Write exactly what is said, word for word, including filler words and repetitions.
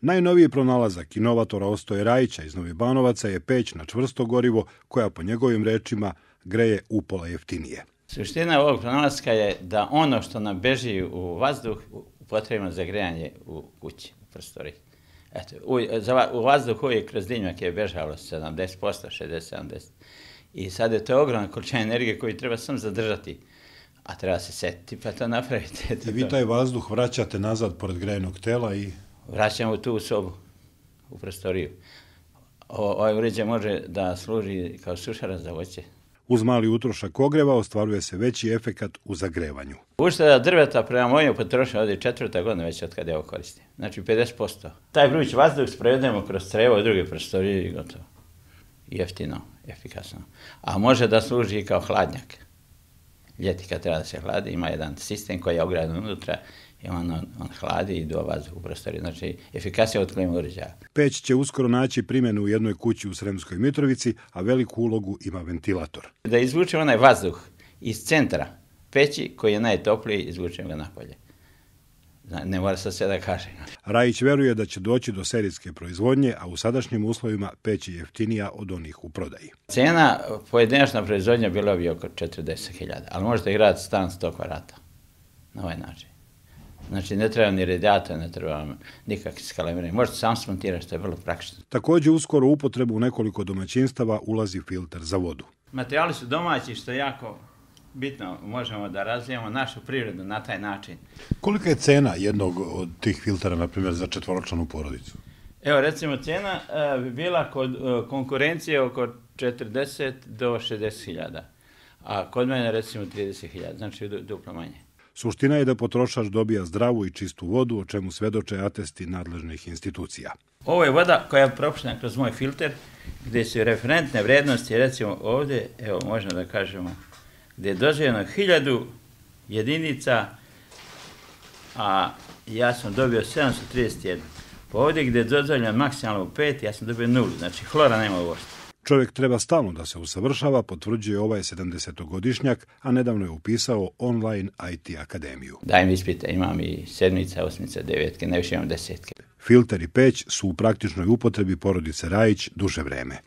Najnoviji pronalazak inovatora Ostoje Rajića iz Novih Banovaca je peć na čvrsto gorivo koja po njegovim rečima greje upola jeftinije. Suština ovog pronalaska je da ono što nam beži u vazduh upotrebimo za grejanje u kući, u prostoriji. Eto, u, za, u vazduh uvijek kroz dimnjak je bežalo sedamdeset posto, šezdeset do sedamdeset posto. I sad je to ogromna količina energije koju treba sam zadržati, a treba se setiti pa to napraviti. I vi taj vazduh vraćate nazad pored grejenog tela i... Vraćamo tu u sobu, u prostoriju. O, ovaj uređaj može da služi kao sušara za voće. Uz mali utrošak ogreva ostvaruje se veći efekat u zagrevanju. Ušteda drveta prema mojoj potrošnji ovdje je četvrta godina već od kada je ovo koristim. Znači pedeset posto. Taj vruć vazduh sprovedemo kroz crevo i druge prostorije i gotovo. Jeftino, efikasno. A može da služi i kao hladnjak. Ljeti kad treba da se hladi, ima jedan sistem koji je ogradan unutra i on, on, on hladi i do vazduh u prostoriju. Znači, efikasnije od klima uređaja. Peć će uskoro naći primjenu u jednoj kući u Sremskoj Mitrovici, a veliku ulogu ima ventilator. Da izvučemo onaj vazduh iz centra peći koji je najtopliji, izvučemo ga napolje. Ne mora se sve da kažem. Rajić veruje da će doći do serijske proizvodnje, a u sadašnjim uslovima peć je jeftinija od onih u prodaji. Cena pojedinačna proizvodnja bila bi oko četrdeset hiljada, ali možete graditi stan sto kvadrata na ovaj način. Znači ne treba ni radijator, ne treba nikakve skalamiranje. Možete sam smontirati, što je vrlo praktično. Također uskoro u upotrebu u nekoliko domaćinstava ulazi filter za vodu. Materijali su domaći, što je jako bitno, možemo da razvijamo našu privredu na taj način. Kolika je cena jednog od tih filtera, na primjer, za četvoročlanu porodicu? Evo, recimo, cena bi bila kod konkurencije oko četrdeset do šezdeset hiljada, a kod mene recimo trideset hiljada, znači duplo manje. Suština je da potrošač dobija zdravu i čistu vodu, o čemu svedoče atesti nadležnih institucija. Ovo je voda koja je propuštena kroz moj filter, gdje su referentne vrednosti, recimo ovdje, evo, možemo da kažemo, gdje je dozvoljeno hiljadu jedinica, a ja sam dobio sedamsto trideset jedan. Pa ovdje gdje je dozvoljeno maksimalno pet, ja sam dobio nulu, znači hlora nema uopšte. Čovjek treba stalno da se usavršava, potvrđuje ovaj sedamdesetogodišnjak, a nedavno je upisao online I T akademiju. Dajem ispite, imam i sedmica, osmica, devetke, najviše imam desetke. Filter i peć su u praktičnoj upotrebi porodice Rajić duže vreme.